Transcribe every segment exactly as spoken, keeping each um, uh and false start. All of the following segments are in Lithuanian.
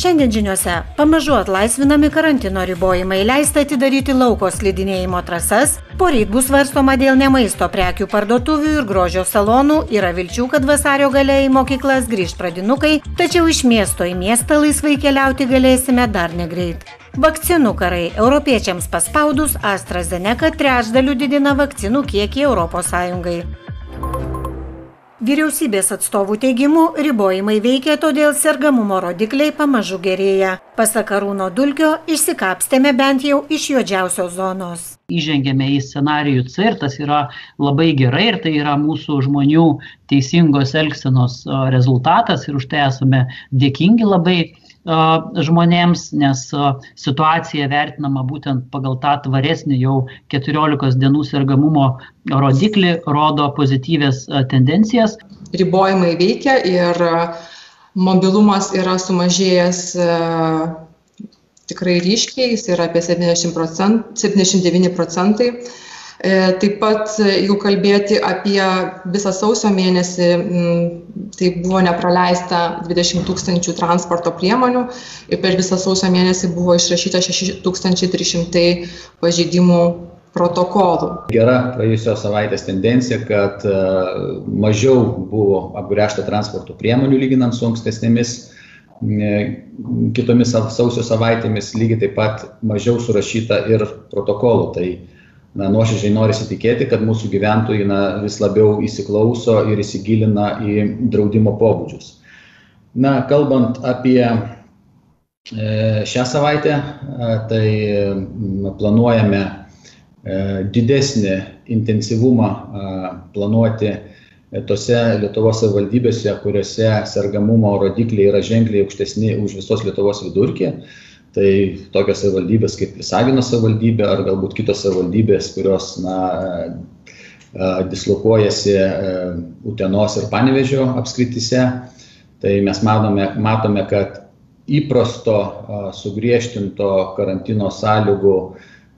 Šiandien žiniuose pamažu atlaisvinami karantino ribojimai, leista atidaryti lauko slidinėjimo trasas, poryt bus svarstoma dėl nemaisto prekių parduotuvių ir grožio salonų, yra vilčių, kad vasario gale į mokyklas grįž pradinukai, tačiau iš miesto į miestą laisvai keliauti galėsime dar negreit. Vakcinų karai. Europiečiams paspaudus, AstraZeneca trečdaliu didina vakcinų kiekį Europos Sąjungai. Vyriausybės atstovų teigimu, ribojimai veikia, todėl sergamumo rodikliai pamažu gerėja. Pasak Arūno Dulkio, išsikapstėme bent jau iš juodžiausios zonos. Įžengėme į scenarijų C ir tas yra labai gerai ir tai yra mūsų žmonių teisingos elgsenos rezultatas ir už tai esame dėkingi labai žmonėms, nes situacija vertinama būtent pagal tą tvaresnį jau keturiolikos dienų sergamumo rodiklį, rodo pozityvės tendencijas. Ribojimai veikia ir mobilumas yra sumažėjęs tikrai ryškiai, jis yra apie septyniasdešimt devyni procentai. Taip pat, jeigu kalbėti apie visą sausio mėnesį, tai buvo nepraleista dvidešimt tūkstančių transporto priemonių ir per visą sausio mėnesį buvo išrašyta šeši tūkstančiai trys šimtai pažeidimų protokolų. Gera praėjusios savaitės tendencija, kad mažiau buvo apgręžta transporto priemonių lyginant su ankstesnėmis kitomis sausio savaitėmis, lygiai taip pat mažiau surašyta ir protokolų. Tai Na, nuoširdžiai norisi tikėti, kad mūsų gyventojai na, vis labiau įsiklauso ir įsigilina į draudimo pobūdžius. Na, kalbant apie e, šią savaitę, e, tai planuojame e, didesnį intensyvumą e, planuoti tose Lietuvos savivaldybėse, kuriuose sergamumo rodikliai yra ženkliai aukštesni už visos Lietuvos vidurkį. Tai tokios savivaldybės kaip Visagino savivaldybė ar galbūt kitos savivaldybės, kurios na, dislokuojasi Utenos ir Panevėžio apskrityse. Tai mes matome, matome, kad įprasto sugriežtinto karantino sąlygų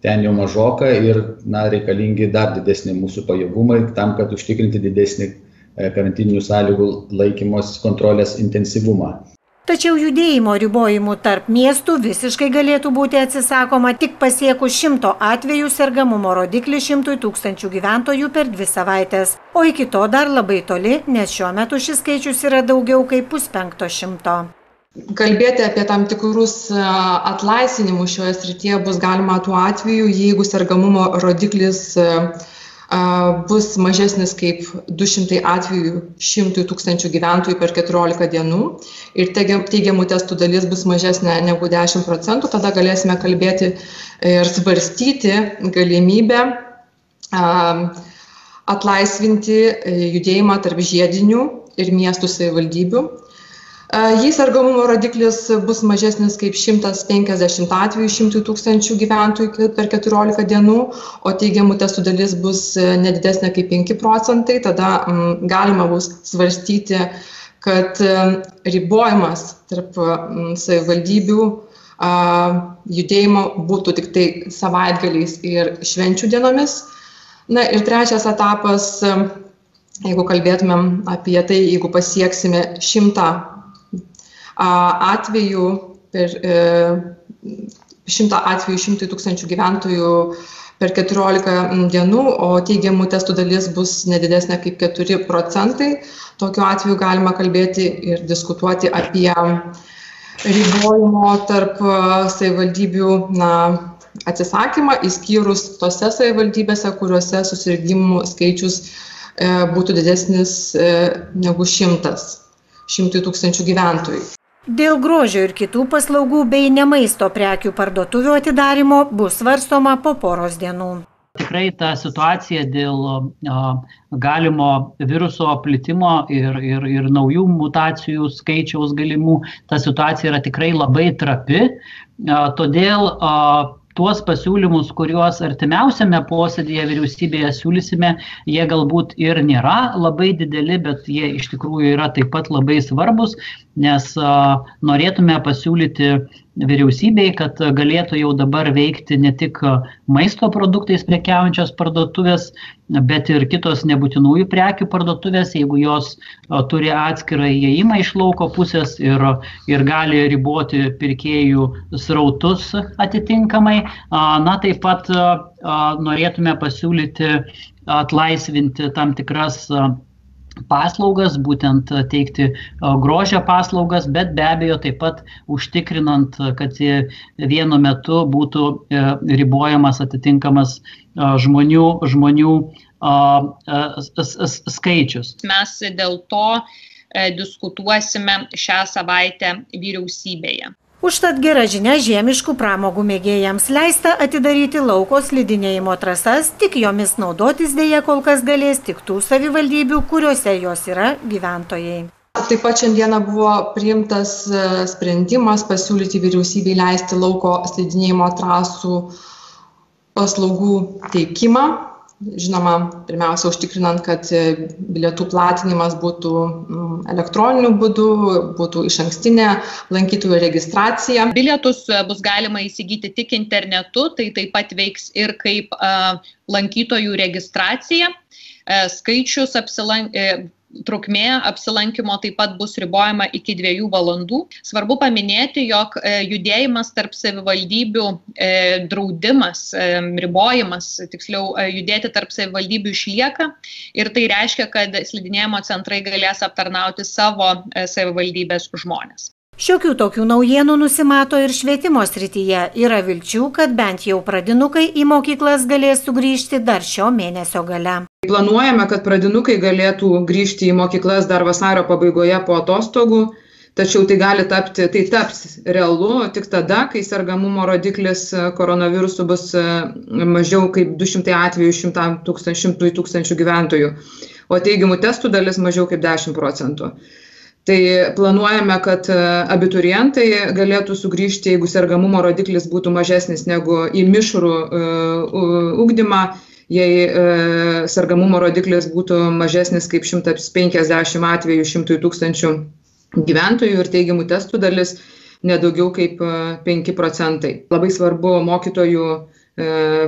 ten jau mažoka ir na, reikalingi dar didesni mūsų pajėgumai tam, kad užtikrinti didesnį karantininių sąlygų laikymos kontrolės intensyvumą. Tačiau judėjimo ribojimų tarp miestų visiškai galėtų būti atsisakoma tik pasiekus šimto atvejų sergamumo rodiklį šimtui tūkstančių gyventojų per dvi savaitės. O iki to dar labai toli, nes šiuo metu šis skaičius yra daugiau kaip puspenkto šimto. Kalbėti apie tam tikrus atlaisvinimus šioje srityje bus galima tuo atveju, jeigu sergamumo rodiklis bus mažesnis kaip du šimtai atvejų šimtui tūkstančių gyventojų per keturiolika dienų ir teigiamų testų dalis bus mažesnė negu dešimt procentų, tada galėsime kalbėti ir svarstyti galimybę atlaisvinti judėjimą tarp žiedinių ir miestų savivaldybių. Jei sergamumo rodiklis bus mažesnis kaip šimtas penkiasdešimt atvejų šimtui tūkstančių gyventojų per keturiolika dienų, o teigiamų testų dalis bus nedidesnė kaip penki procentai, tada m, galima bus svarstyti, kad m, ribojimas tarp m, savivaldybių a, judėjimo būtų tik tai savaitgaliais ir švenčių dienomis. Na ir trečias etapas, jeigu kalbėtumėm apie tai, jeigu pasieksime šimtą atvejų per šimtą atvejų šimtui tūkstančių gyventojų per keturiolika dienų, o teigiamų testų dalis bus nedidesnė kaip keturi procentai. Tokiu atveju galima kalbėti ir diskutuoti apie ribojimo tarp savivaldybių na, atsisakymą, išskyrus tose savivaldybėse, kuriuose susirgimų skaičius būtų didesnis negu šimtas, šimtui tūkstančių gyventojų. Dėl grožio ir kitų paslaugų bei nemaisto prekių parduotuvių atidarymo bus svarstoma po poros dienų. Tikrai ta situacija dėl a, galimo viruso plitimo ir, ir, ir naujų mutacijų skaičiaus galimų, ta situacija yra tikrai labai trapi, a, todėl a, tuos pasiūlymus, kuriuos artimiausiame posėdėje vyriausybėje siūlysime, jie galbūt ir nėra labai dideli, bet jie iš tikrųjų yra taip pat labai svarbus, nes a, norėtume pasiūlyti vyriausybei, kad galėtų jau dabar veikti ne tik maisto produktais prekiaujančios parduotuvės, bet ir kitos nebūtinųjų prekių parduotuvės, jeigu jos turi atskirą įėjimą iš lauko pusės ir, ir gali riboti pirkėjų srautus atitinkamai. Na, taip pat norėtume pasiūlyti atlaisvinti tam tikras paslaugas, būtent teikti grožio paslaugas, bet be abejo taip pat užtikrinant, kad vienu metu būtų ribojamas atitinkamas žmonių, žmonių skaičius. Mes dėl to diskutuosime šią savaitę vyriausybėje. Užtat gera žinia žiemiškų pramogų mėgėjams leista atidaryti lauko slidinėjimo trasas, tik jomis naudotis dėja kol kas galės tik tų savivaldybių, kuriuose jos yra gyventojai. Taip pat šiandieną buvo priimtas sprendimas pasiūlyti vyriausybei leisti lauko slidinėjimo trasų paslaugų teikimą. Žinoma, pirmiausia, užtikrinant, kad bilietų platinimas būtų elektroniniu būdu, būtų išankstinė lankytojų registracija. Bilietus bus galima įsigyti tik internetu, tai taip pat veiks ir kaip lankytojų registracija. Skaičius apsilank... Trukmė apsilankimo taip pat bus ribojama iki dviejų valandų. Svarbu paminėti, jog judėjimas tarp savivaldybių draudimas, ribojimas, tiksliau judėti tarp savivaldybių išlieka ir tai reiškia, kad slidinėjimo centrai galės aptarnauti savo savivaldybės žmones. Šiokių tokių naujienų nusimato ir švietimo srityje. Yra vilčių, kad bent jau pradinukai į mokyklas galės sugrįžti dar šio mėnesio gale. Planuojame, kad pradinukai galėtų grįžti į mokyklas dar vasario pabaigoje po atostogų, tačiau tai gali tapti, tai taps realu tik tada, kai sergamumo rodiklis koronavirusu bus mažiau kaip du šimtai atvejų šimtui tūkstančių gyventojų, o teigiamų testų dalis mažiau kaip dešimt procentų. Tai planuojame, kad abiturientai galėtų sugrįžti, jeigu sergamumo rodiklis būtų mažesnis negu į mišrų ugdymą, jei sergamumo rodiklis būtų mažesnis kaip šimtas penkiasdešimt atvejų šimtui tūkstančių gyventojų ir teigiamų testų dalis nedaugiau kaip penki procentai. Labai svarbu mokytojų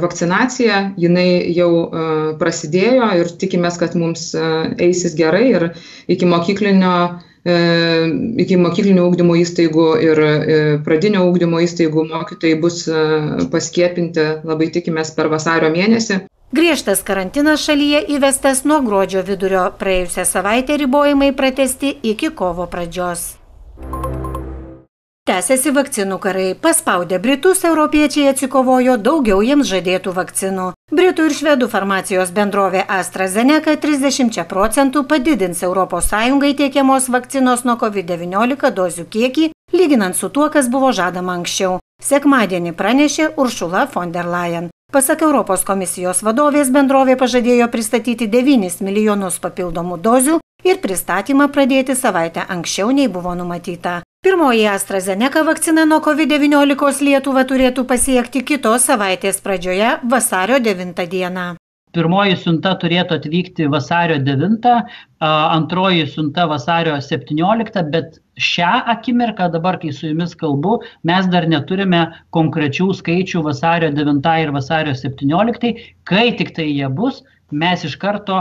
vakcinacija, jinai jau prasidėjo ir tikimės, kad mums eisis gerai ir iki mokyklinio iki mokyklinio ugdymo įstaigų ir pradinio ugdymo įstaigų mokytojai bus paskiepinti, labai tikimės, per vasario mėnesį. Griežtas karantinas šalyje įvestas nuo gruodžio vidurio, praėjusią savaitę ribojimai pratęsti iki kovo pradžios. Tęsiasi vakcinų karai. Paspaudę Britus, europiečiai atsikovojo daugiau jiems žadėtų vakcinų. Britų ir švedų farmacijos bendrovė AstraZeneca trisdešimčia procentų padidins Europos Sąjungai tiekiamos vakcinos nuo COVID devyniolika dozių kiekį, lyginant su tuo, kas buvo žadama anksčiau. Sekmadienį pranešė Ursula von der Leyen. Pasak Europos komisijos vadovės, bendrovė pažadėjo pristatyti devynis milijonus papildomų dozių ir pristatymą pradėti savaitę anksčiau nei buvo numatyta. Pirmoji AstraZeneca vakcina nuo COVID devyniolika Lietuvą turėtų pasiekti kitos savaitės pradžioje vasario devintą dieną. Pirmoji siunta turėtų atvykti vasario devintą, antroji siunta vasario septynioliktą, bet šią akimirką, dabar kai su jumis kalbu, mes dar neturime konkrečių skaičių vasario devintą ir vasario septynioliktai. Kai tik tai jie bus, mes iš karto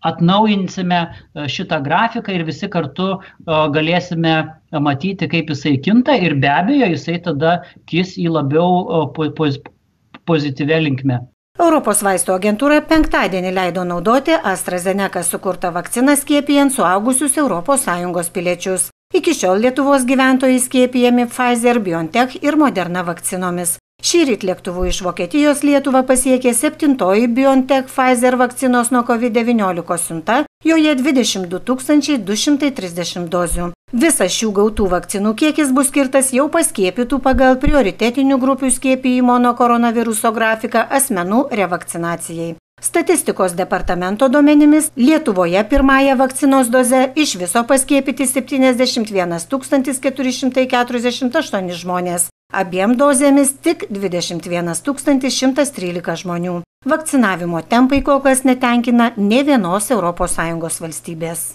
atnaujinsime šitą grafiką ir visi kartu galėsime matyti, kaip jisai kinta ir be abejo jisai tada kis į labiau pozityvę linkmę. Europos vaistų agentūra penktadienį leido naudoti AstraZeneca sukurtą vakciną skiepijant suaugusius Europos Sąjungos piliečius. Iki šiol Lietuvos gyventojai skiepijami Pfizer, BioNTech ir Moderna vakcinomis. Šįryt lėktuvu iš Vokietijos Lietuvą pasiekė septintoji BioNTech Pfizer vakcinos nuo COVID devyniolika siunta, joje dvidešimt du tūkstančiai du šimtai trisdešimt dozių. Visas šių gautų vakcinų kiekis bus skirtas jau paskiepytų pagal prioritetinių grupių skiepijimo nuo koronaviruso grafiką asmenų revakcinacijai. Statistikos departamento duomenimis Lietuvoje pirmąją vakcinos dozę iš viso paskiepyti septyniasdešimt vienas tūkstantis keturi šimtai keturiasdešimt aštuoni žmonės. Abiem dozėmis tik dvidešimt vienas tūkstantis šimtas trylika žmonių. Vakcinavimo tempai kol kas netenkina nė vienos Europos Sąjungos valstybės.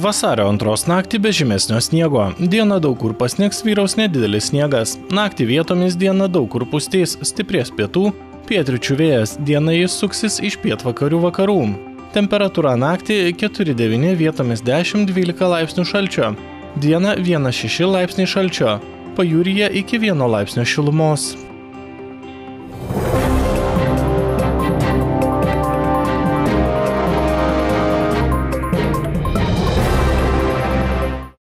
Vasario antros naktį be žymesnio sniego. Dieną daug kur pasnigs, vyraus nedidelis sniegas. Naktį vietomis dieną daug kur pustys, stiprės pietų, pietryčių vėjas. Dieną jis suksis iš pietvakarių vakarų. Temperatūra naktį keturi devyni, vietomis dešimt dvylika laipsnių šalčio. Dieną vienas šeši laipsniai šalčio. Pajūryje iki vieno laipsnio šilumos.